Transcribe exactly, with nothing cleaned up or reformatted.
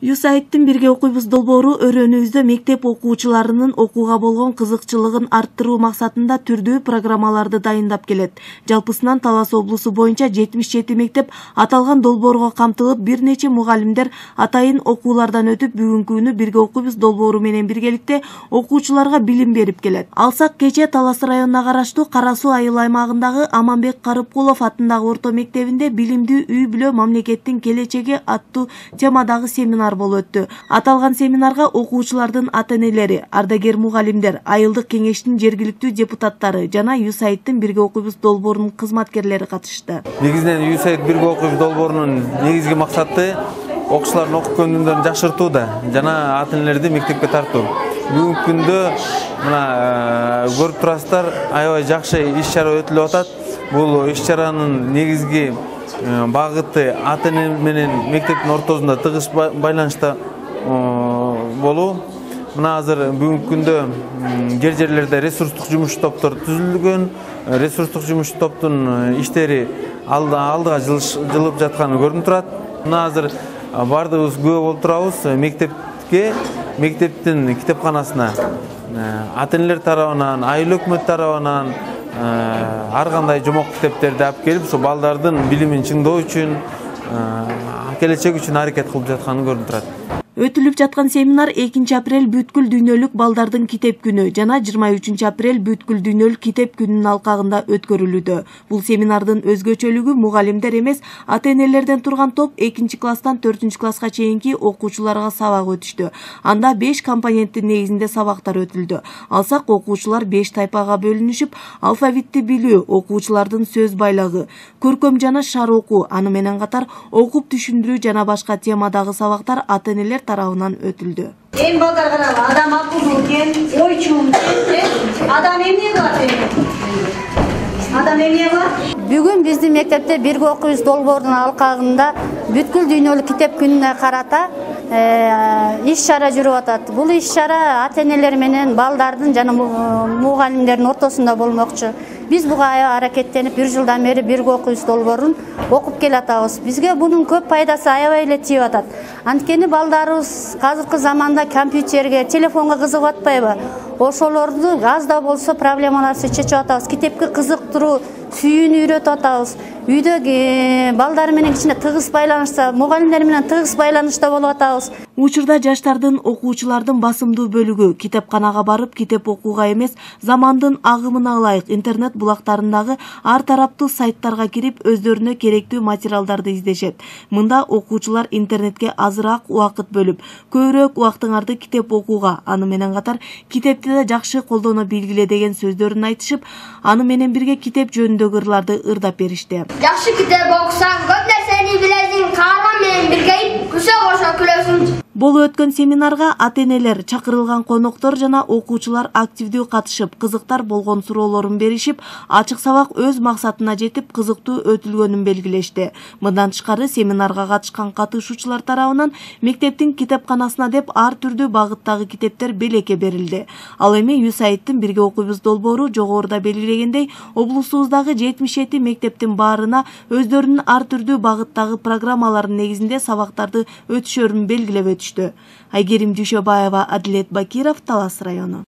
Юсайттын бирге окуйбуз долбоору өрөөнүбүздө мектеп окуучуларынын окууга болгон кызыкчылыгын арттыруу максатында түрдүү программаларды дайындап келет. Жалпысынан Талас облусу боюнча жетимиш жети мектеп аталган долбоорго камтылып, бир нече мугалимдер атайын окуулардан өтүп, бүгүнкү күнү бирге окуйбуз долбоору менен биргеликте окуучуларга билим берип келет. Алсак кечээ Талас районуна караштуу Кара Суу айыл аймагындагы Аманбек Карыпкулов атындагы орто мектебинде билимдүү үй-бүлө мамлекеттин келечеги аттуу темадагы семинар болуп өттү. Аталган семинарга окуучулардын ата-энелери, ардагер мугалимдер, айылдык кеңештин жергиликтүү депутаттары жана Юсайттын бирге окуйбуз долбоорунун кызматкерлери катышты. Негизинен Юсайт бирге окуйбуз долбоорунун негизги максаты окуучулардын окуп көндүмдөрүн жакшыртууда жана ата-энелерди мектепке тартуу. Бүгүнкү күндө мына көрүп турасыздар, аябай жакшы иш-чара өтүлүп атат. Бул иш-чаранын негизги багыты ата-эне менен мектептин ортосунда тыгыз байланышта болуу. Мына азыр бүгүнкү күндө жер жерлерде ресурстук жумуш топтор түзүлгөн. Ресурстук жумуш топтун иштери алдыга жылып жатканы көрүнүп турат. Мына азыр бардыгыбыз күбө болуп турабыз. Мектепке, мектептин китепканасына ата-энелер тарабынан, айыл өкмөт тарабынан ар кандай жомок китептерди алып келип, ошо балдардын билимин чыңдоо үчүн, келечек үчүн аракет кылып жатканы көрүнүп турат. Өтүлүп жаткан семинар экинчи апрель бүткүл дүйнөлүк балдардын китеп күнү жана жыйырма үчүнчү апрель бүткүл дүйнөлүк китеп күнүнүн алкагында өткөрүлүүдө. Бул семинардын өзгөчөлүгү мугалимдер эмес, ата-энелерден турган топ экинчи класстан төртүнчү класска чейинки окуучуларга сабак өтүштү. Анда беш компоненттин негизинде сабактар өтүлдү. Алсак окуучулар беш тайпага бөлүнүшүп, алфавитти билүү, окуучулардын сөз байлагы, көркөм жана шар окуу, аны менен катар окуп түшүндүрүү жана башка темадагы сабактар ата-энелер тарабынан өтүлдү. Эң балдар карап, адам акылдуу экен, ойчу экен, адам эмне кылат экен? Адам эмне кылат? Бүгүн биздин мектепте бирге окуйбуз долбоорунун алкагында бүткүл дүйнөлүк китеп күнүнө карата иш-чара жүрүп атат. Бул иш-чара ата-энелер менен балдардын жана мугалимдердин ортосунда болмокчу. Биз буга аракеттенип бир жылдан бери бирге окуйбуз долбоорун окуп келатабыз. Бизге бунун көп пайдасы аябай эле тийип атат. Анткени балдарыбыз азыркы заманда компьютерге, телефонго кызыгып атпайбы? Ошолорду аз да болсо проблемаларды чечип атабыз. Китепке кызыктыруу, сүйүүнү үйрөтүп атабыз. Үйдө балдар менен кичине тыгыз байланышта, мугалимдер менен тыгыз байланышта болуп атабыз. Учурда жаштардын, окуучулардын басымдуу бөлүгү китепканага барып китеп окууга эмес, замандын агымына ылайык интернет булактарындагы ар тараптуу сайттарга кирип, өздөрүнө керектүү материалдарды издешет. Мында окуучулар интернетке азыраак убакыт бөлүп, көбүрөөк убактыңарды китеп окууга, аны менен катар китепти да жакшы колдоно билгиле деген сөздөрүн айтышып, аны менен бирге китеп жөнүндөгү ырларды ырдап беришти. Жакшы китеп окусаң, көп нерсени билесиң, каарман менен биргейип, күсө кошо күлөсүң. Болуп өткөн семинарга ата-энелер, чакырылган коноктор жана окуучулар активдүү катышып, кызыктар болгон суроолорун беришип, ачык сабак өз максатына жетип, кызыктуу өтүлгөнүн белгилешти. Мындан тышкары семинарга катышкан катышуучулар тарабынан мектептин китепканасына деп ар түрдүү багыттагы китептер белекке берилди. Ал эми Юсайттын бирге окуйбуз долбоору жогоруда белгилегендей, облусубуздагы жетимиш жети мектептин баарына өздөрүнүн ар түрдүү багыттагы программаларынын негизинде сабактарды өтүшөрүн белгилеп өтүштү. Айгерим Дүйшөбаева, Адилет Бакиров, Талас району.